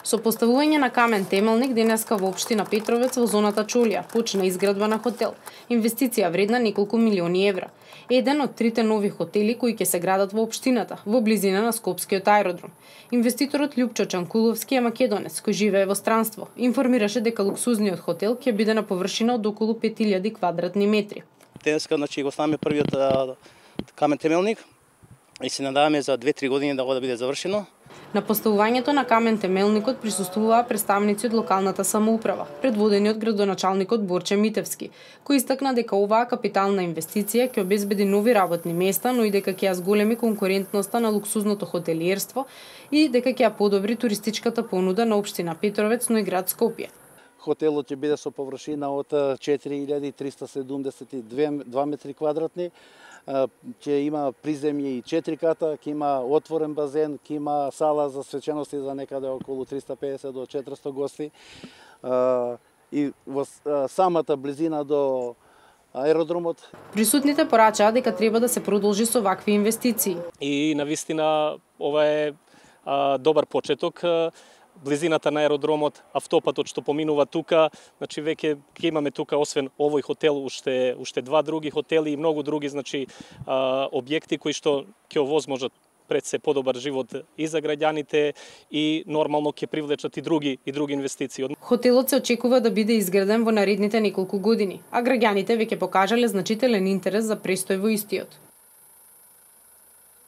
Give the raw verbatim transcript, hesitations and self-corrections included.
Со поставување на камен темелник денеска во општина Петровец во зоната Чолија почна изградба на хотел. Инвестиција вредна неколку милиони евра. Еден од трите нови хотели кои ќе се градат во општината, во близина на Скопскиот аеродром. Инвеститорот Љупчо Чанкуловски е македонец кој живее во странство. Информираше дека луксузниот хотел ќе биде на површина од околу пет илјади квадратни метри. Денеска значи го ставаме првиот камен темелник и се надаваме за две-три години да го да биде завршено. На поставувањето на камен темелникот присуствуваа представници од локалната самоуправа, предводени од градоначалникот Борче Митевски, кој истакна дека оваа капитална инвестиција ќе обезбеди нови работни места, но и дека ќе ја зголеми конкурентноста на луксузното хотелиерство и дека ќе ја подобри туристичката понуда на општина Петровец, но и град Скопје. Хотелот ќе биде со површина од четири илјади триста седумдесет и две метри квадратни. Ќе има приземје и четири ката, ќе има отворен базен, ќе има сала за свечености за некаде околу триста педесет до четиристо гости. И во самата близина до аеродромот. Присутните порачаа дека треба да се продолжи со вакви инвестиции. И навистина ова е а, добар почеток. Близината на аеродромот, автопатот што поминува тука, значи веќе ќе имаме тука освен овој хотел уште уште два други хотели и многу други значи а, објекти кои што ќе овозможат пред се подобар живот и за граѓаните и нормално ќе привлечат и други и други инвестиции. Хотелот се очекува да биде изграден во наредните неколку години, а граѓаните веќе покажале значителен интерес за престој во истиот.